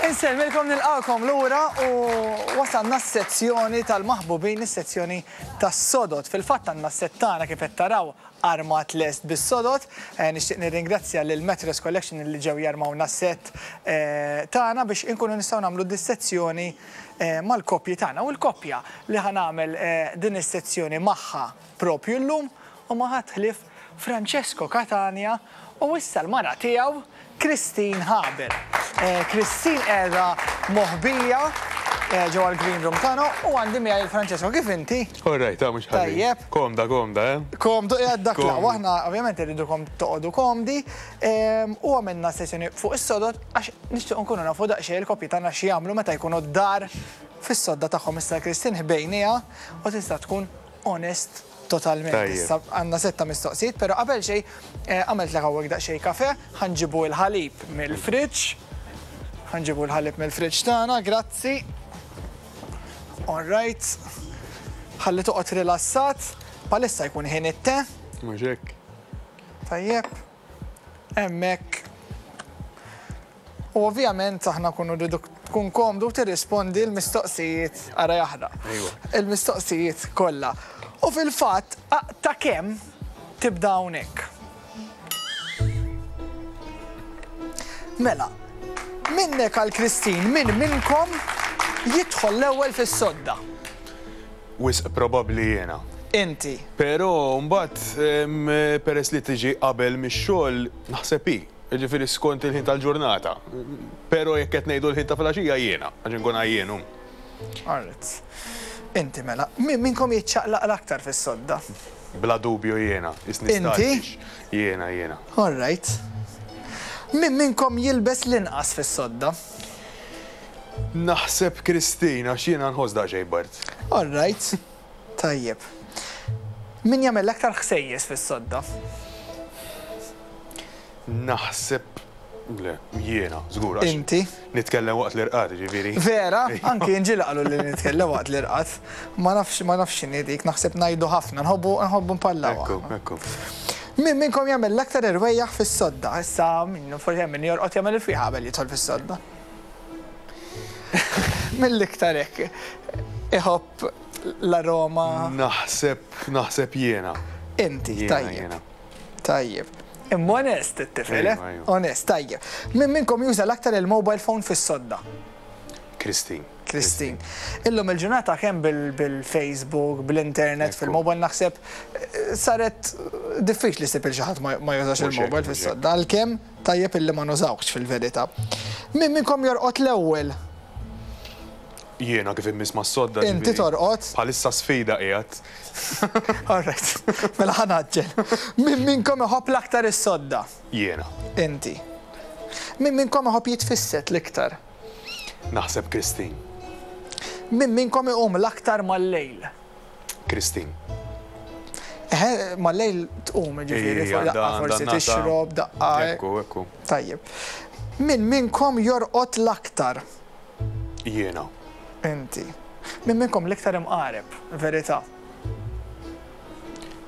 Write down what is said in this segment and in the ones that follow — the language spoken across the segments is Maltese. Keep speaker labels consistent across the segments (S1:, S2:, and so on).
S1: Insellmilkom nilqakom lura u wasalna s-sezzjoni tal-maħbubin, is-sezzjoni tas-sodod. Fil-fatt għandna s-sett tagħna kif qed taraw armat lest bis-sodod. Nixtieq nirringrazzja lil Mattress Collection li ġew jarmawna s-sett tagħna biex inkunu nistgħu nagħmlu dis-sezzjoni mal-koppji tagħna. U l-koppja li ħa nagħmel din is-sezzjoni magħha propju llum huma ħadd ħlief Francesco Catania u issa l-mara tiegħu Christine Haber. Christine qiegħda moħbija ġewwa l-green room tagħna u għandi miegħi lil Francesco. Kif inti?
S2: All right, ah mhux ħażin.
S1: Tajjeb.
S2: Komda, komda, eh?
S1: Komdu qiegħed dak l-aqwa. Aħna ovvjament irridukom toqogħdu komdi u għamilna sessjoni fuq is-sodod għax nixtiequ nkunu nafu daqsxejn il-koppji tagħna x'jagħmlu meta jkunu d-dar fis-sodda tagħhom. Issa Christine ħbejniha u tista' tkun onest totalment. Issa għandna setta mistoqsijiet, però qabel xejn għamiltlek hawnhekk daqsxejn kafè, ħa nġibu l-ħalib mill-fridge. Ħa nġibu l-ħalib mill-fridge tagħna, grazzi. All right. Ħalli toqgħod rilassat. Bħalissa jkun ħin it-te.
S2: Mhux hekk.
S1: Tajjeb. Hemmhekk. U ovvjament aħna nkunu rriduk tkun komdu u tirrispondi l-mistoqsijiet ara jaħraq. Il-mistoqsijiet kollha. U fil-fatt ta' kemm tibda hawnhekk. Mela, minnek għal Christine, min minnkom jidħol l-ewwel fis-sodda?
S2: Wisq probabbli jiena.
S1: Inti.
S2: Però mbagħad peress li tiġi qabel mix-xogħol naħseb hi. Jiġifieri skont il-ħin tal-ġurnata. Però jekk qed ngħidu l-ħin ta' filgħaxija jiena, għax inkun għajjien hu.
S1: Alright. Inti mela. Min minnkom jiċċaqlaq l-aktar fis-sodda?
S2: Bla dubju jiena. Isni
S1: Inti?
S2: Jiena, jiena.
S1: Alright. Min minnkom jilbes l-inqas fis-sodda?
S2: Naħseb Christine għax jiena nħoss daqsxejn bard.
S1: Alright. Tajjeb. Min jagħmel l-aktar ħsejjes fis-sodda?
S2: Naħseb le, jiena, żgur għax.
S1: Inti?
S2: Nitkellem waqt l-irqad, jiġifieri.
S1: Vera? Anki jien ġieli qaluli li nitkellem waqt l-irqad. Ma nafx, ma nafx x'inhi dik, naħseb ngħidu ħafna, nħobbu, nħobbu npallaw
S2: Ekku, ekku.
S1: Min minnkom jagħmel l-aktar irwejjaħ fis-sodda? Issa, min, forsi hemm min jorqod jagħmel il-fwieħa qabel jidħol fis-sodda. Mill-iktar hekk iħobb l-aroma.
S2: Naħseb, naħseb jiena.
S1: Inti, tajjeb. Tajjeb. Imma onest it-tifel, eh? Onest, tajjeb. Min minnkom juża l-aktar il-mobile phone fis-sodda?
S2: Christine.
S1: Christine. Illum il-ġurnata kemm bil-Facebook, bl-internet, fil-mobile naħseb saret diffiċli ssib il xi ħadd ma jużax il-mobile fis-sodda. Għalkemm tajjeb illi ma nużawhx fil-verità. Min minnkom jorqod l-ewwel?
S2: Jiena kif immiss mas-sodda.
S1: Inti torqod?
S2: Bħalissa sfida qiegħed.
S1: All right. Mela ħa ngħaġġel. Min minnkom iħobb l-aktar is-sodda?
S2: Jiena.
S1: Inti. Min minnkom iħobb jitfissed l-iktar?
S2: Naħseb Christine.
S1: Min minnkom iqum l-aktar mal-lejl?
S2: Christine.
S1: Eħe, mal-lejl tqum, jiġifieri, daqqa forsi tixrob, daqqa.
S2: Ekku, ekku.
S1: Tajjeb. Min minnkom jorqod l-aktar?
S2: Jiena.
S1: Inti. Min minnkom l-iktar imqareb, verità?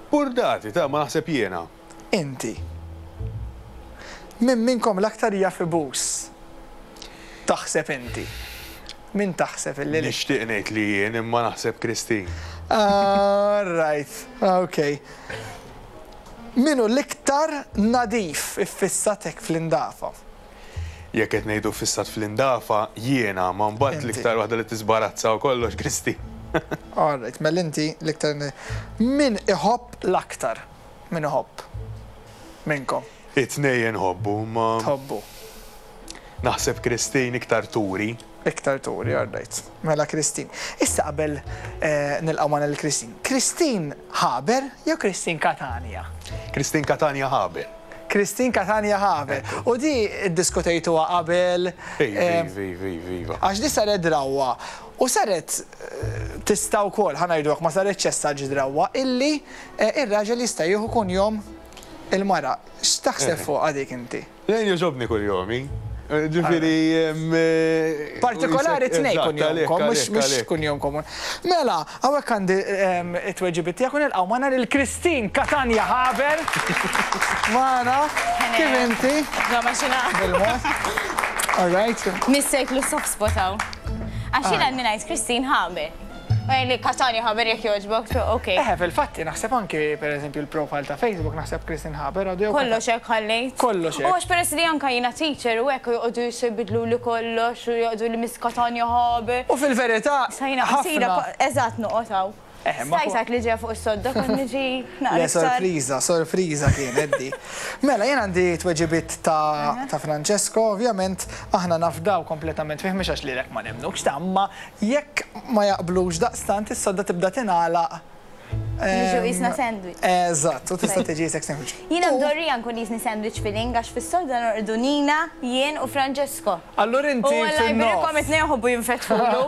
S2: Burdati, ta' ma naħseb jiena.
S1: Inti. Min minnkom l-aktar jaf ibus? Taħseb inti. Min taħseb illi l-.
S2: Nixtieq ngħid li jien imma naħseb Christine.
S1: All right, ok. Min hu l-iktar nadif iffissat hekk fl-indafa?
S2: Jekk qed ngħidu ffissat fl-indafa, jiena, ma mbagħad l-iktar waħda li tiżbarazza u kollox Christine.
S1: All right, mela inti l-iktar Min iħobb l-aktar? Min iħobb? Minnkom?
S2: It-tnejn inħobbu, imma.
S1: Tħobbu.
S2: Naħseb Christine iktar turi.
S1: Iktar turi, all right. Mela Christine. Issa qabel nilqgħu magħna lil Christine. Christine Haber jew Christine Catania?
S2: Christine Catania Haber.
S1: Christine Catania Haber. U di ddiskutejtuha qabel?
S2: Iva, iva, iva, iva, iva.
S1: Għax di saret drawwa. U saret tista' wkoll, ħa ngħidu hekk, ma saretx essaġġ drawwa, illi r-raġel jista' jieħu kunjom il-mara. X'taħseb fuqha dik inti?
S2: Jien jogħġobni kunjomi. Ġifieri.
S1: Partikolari tnejn kunjomkom, mhux kunjom komuni. Mela, hawnhekk għandi t-tweġibiet tiegħek u nilqgħu magħna lil Christine Catania Haber. Magħna. Kif inti?
S3: Insomma x'inha.
S1: Bil-mod. All right?
S3: Missejtlu soft spot hawn. Għax jiena għandi ngħid Christine Haber. Li Katani Haber jekk jogħġbok, ok.
S1: Eħe, fil-fatti naħseb anki pereżempju l-profile ta' Facebook naħseb Christine Haber għadu jew.
S3: Kollox hekk ħallejt.
S1: Kollox hekk.
S3: U għax peress li anka jiena teacher u hekk u joqogħdu jbidluli kollox u joqogħdu li Miss Katania Haber.
S1: U fil-verità.
S3: Sa jiena qasira, eżatt noqgħod hawn. Stajt li ġejja fuq is-sodda kont niġi naqra.
S1: Le sorpriża, sorpriża kienet di. Mela jien għandi tweġibiet ta' ta' Francesco, ovvjament aħna nafdaw kompletament fih mhux għax lilek ma nemmnukx ta' imma jekk ma jaqblux daqstant is-sodda tibda tingħalaq.
S3: Niġu qisna sandwich.
S1: Eżatt, u tista' tiġi qisek sandwich.
S3: Jiena mdorrija nkun qisni sandwich filling għax fis-sodda norqdu Nina, jien u Francesco.
S1: Allura inti
S3: U Alla
S1: fin-nofs.
S3: jberikhom it-tnejn iħobbu jinfetħulu.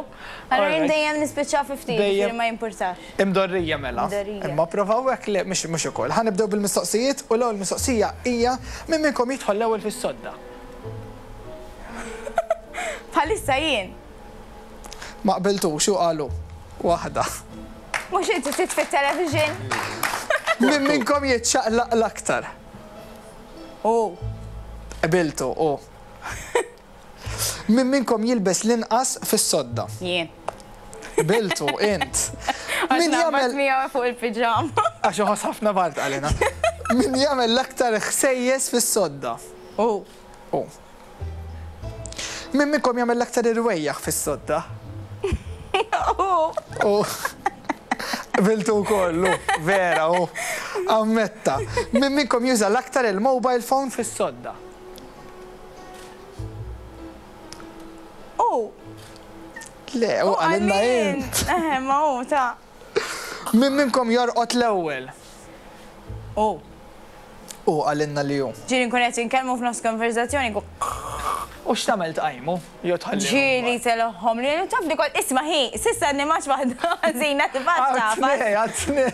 S3: Allura jien dejjem nispiċċa fi ftit,
S1: Dejjem.
S3: jiġifieri ma jimpurtax.
S1: Imdorrija mela.
S3: Imdorrija.
S1: Imma provaw hekk le mhux mhux ukoll. Ħa nibdew bil-mistoqsijiet u l-ewwel mistoqsija hija min minnkom jidħol l-ewwel fis-sodda?
S3: Bħalissa jien.
S1: Ma qbiltux u qalu waħda.
S3: Mhux inti titfi t-television?
S1: Min minnkom jiċċaqlaq l-aktar?
S3: Hu.
S1: Qbiltu, hu. Min minnkom jilbes l-inqas fis-sodda?
S3: Jien.
S1: Qbiltu, int.
S3: Min jagħmel miegħu fuq il-piġama.
S1: Għax iħoss ħafna bard qalilna. Min jagħmel l-aktar ħsejjes fis-sodda?
S3: Hu.
S1: Hu. Min minnkom jagħmel l-aktar irwejjaħ fis-sodda?
S3: Hu.
S1: Hu. Qbiltu wkoll, hu. Vera, hu. Ammetta. Min minnkom juża l-aktar il-mobile phone fis-sodda?
S3: Hu.
S1: Le, hu qalilna int.
S3: Eħe, ma hu ta'.
S1: Min minnkom jorqod l-ewwel?
S3: Hu.
S1: Hu qalilna li hu.
S3: Ġieli nkun qed inkellmu f'nofs konverżazzjoni nkun.
S1: U x'tagħmel tqajmu? Jew tħallihom?
S3: Ġieli telgħhom li taf li kont isma' hi, s'issa għadni m'għadx waħda ħażina tibgħat tafas.
S1: Għat-tnej, għat-tnej.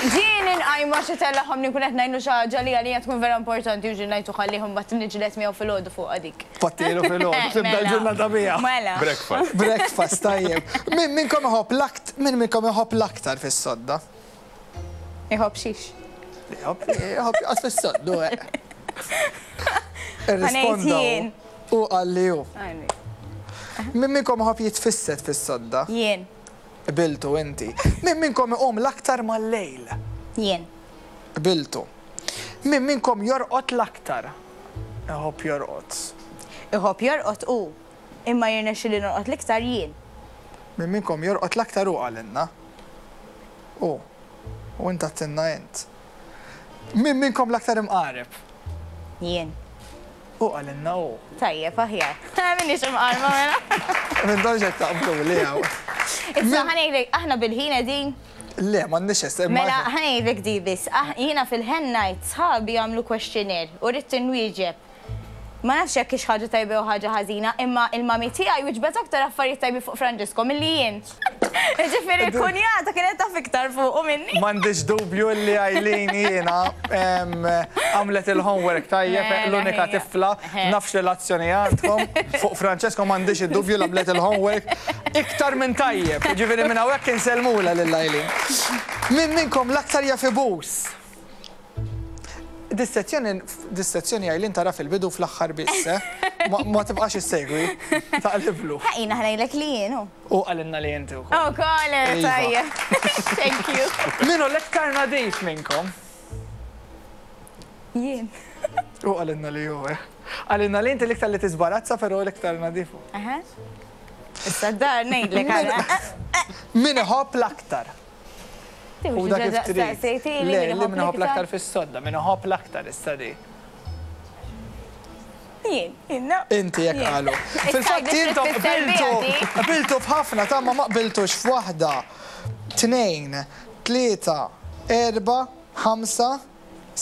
S3: Ġieli nqajmu għax itellagħhom li nkun qed ngħidlu xi ħaġa li għalija tkun vera importanti u ġieli ngħidlu ħallih imbagħad niġġieled miegħu filgħodu fuqha dik.
S1: Tpattilu filgħodu, tibda l-ġurnata biha.
S3: Mela.
S2: Breakfast.
S1: Breakfast, tajjeb. Min minnkom iħobb l-akt, min minnkom iħobb l-aktar fis-sodda?
S3: Iħobb xiex?
S1: Iħobb, iħobb joqgħod fis-soddu, eh. Irrisponda hu. Hu qal li hu. Min minnkom iħobb jitfissed fis-sodda?
S3: Jien.
S1: Qbiltu inti. Min minnkom iqum l-aktar mal-lejl?
S3: Jien.
S1: Qbiltu. Min minnkom jorqod l-aktar? Iħobb jorqod.
S3: Iħobb jorqod hu. Imma jirnexxili norqod l-iktar jien.
S1: Min minnkom jorqod l-aktar hu qalilna. Hu. U int għedtilna int. Min minnkom l-aktar imqareb?
S3: Jien.
S1: Hu qalilna hu.
S3: Tajjeb, aħjar. M'iniex imqarba mela.
S1: M'intomx qed taqbluli hawn.
S3: Issa ħa ngħidlek, aħna bil-ħin qegħdin?
S1: Le, m'għandniex issa.
S3: Mela, ħa ngħidlek di biss. Jiena fil-hen night sħabi għamlu questionnaire u ridt inwieġeb. Ma nafx jekk hix ħaġa tajba jew ħaġa ħażina, imma il-mummy tiegħi wieġbet aktar affarijiet tajbin fuq Franġisko milli jien. Jiġifieri l-kunjata kienet taf iktar fuqu minni.
S1: M'għandix dubju li Eileen jiena għamlet il-homework tajjeb, l-unika tifla, naf x'relazzjoni għandkom. Fuq Francesco m'għandix id-dubju li għamlet il-homework iktar minn tajjeb. Jiġifieri minn hawnhekk insellmulha lil Eileen. Min minnkom l-aktar jaf ibus? Dis-sezzjoni, dis-sezzjoni Eileen tara fil-bidu u fl-aħħar biss, eh? Ma tibqax issegwi, taqliblu.
S3: Ħa jiena ħa ngħidlek li jien hu.
S1: U qalilna li inti wkoll.
S3: Ukoll, tajjeb. Thank you.
S1: Min hu l-iktar nadif minnkom?
S3: Jien.
S1: U qalilna li hu, eh. Qalilna li inti l-iktar li tiżbarazza però l-iktar nadif hu.
S3: Aha. Issa d-dar ngħidlek għala.
S1: Min iħobb l-aktar? U dak kif trid. Le, li min iħobb l-aktar fis-sodda, min iħobb l-aktar issa di.
S3: Jien, jien.
S1: Inti jekk qalu. Fil-fatt intom qbiltu, qbiltu f'ħafna ta' ma ma qbiltux f'waħda, tnejn, tlieta, erbgħa, ħamsa,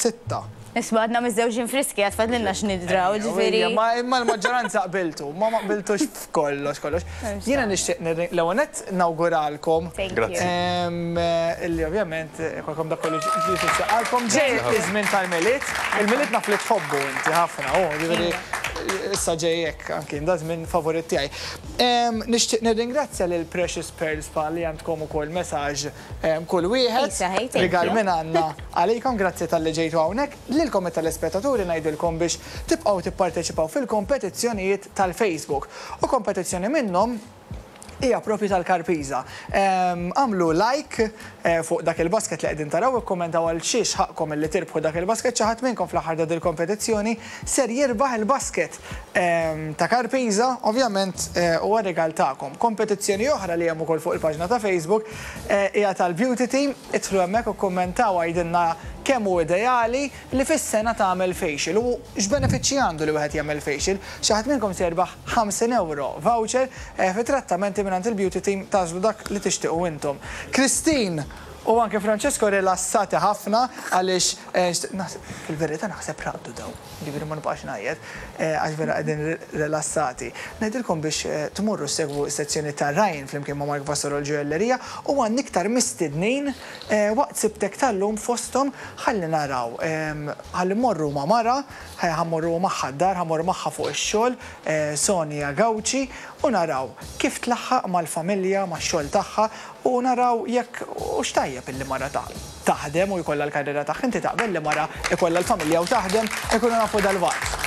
S1: 6.
S3: Isma' għadna miżżewġin friski għad fadlilna x'nidraw, ġifieri.
S1: Ma imma l-maġġoranza qbiltu, ma ma qbiltux f'kollox kollox. Jiena nixtieq l-ewwel nett nawguralkom.
S2: Grazzi.
S1: Illi ovvjament ikolkom dak kollu li tixtieq Ġej iż-żmien tal-Milied, il-Milied naf li tħobbu inti ħafna, u ġifieri issa ġej hekk anki da żmien favorit tiegħi. Nixtieq nirringrazzja lil Precious Pearl Spa li għandkom ukoll messaġġ kull wieħed. Rigal minn għandna għalikom, grazzi talli ġejtu hawnhekk. Lilkom it-telespettaturi ngħidilkom biex tibqgħu tipparteċipaw fil-kompetizzjonijiet tal-Facebook. U kompetizzjoni minnhom hija propju tal-Karpiża. Agħmlu like fuq dak il-basket li qegħdin taraw, ikkummentaw għal xiex ħaqqkom illi tirbħu dak il-basket, xi ħadd minnkom fl-aħħar ta' dil-kompetizzjoni ser jirbaħ il-basket ta' Karpiża, ovvjament huwa rigal tagħkom. Kompetizzjoni oħra li hemm ukoll fuq il-paġna ta' Facebook hija tal-Beauty Team, idħlu hemmhekk u kkummentaw għidilna kemm hu ideali li fis-sena tagħmel facial u x'benefiċċji għandu li wieħed jagħmel facial. Xi ħadd minnkom se jirbaħ 50 ewro voucher fi trattamenti mingħand il-Beauty Team tagħżlu dak li tixtiequ intom. Christine u anke Francesco rilassati ħafna għaliex fil-verità naħseb raqdu dawn, jiġifieri ma nibqax ngħajjat għax vera qegħdin rilassati. Ngħidilkom biex tmorru ssegwu s-sezzjoni ta' Ryan flimkien ma' Mark Vassallo l-Ġojjellerija u għandna iktar mistednin Waqt Sibtek tal-lum fosthom ħalli naraw, ħalli mmorru ma' mara, ħa mmorru magħha d-dar, ħa mmorru magħha fuq ix-xogħol, Sonia Gauci, u naraw kif tlaħħaq mal-familja, max-xogħol tagħha u naraw jekk hux tajjeb illi mara taħdem u jkollha l-karriera tagħha. Inti taqbel li mara jkollha l-familja u taħdem? Inkunu nafu dalwaqt.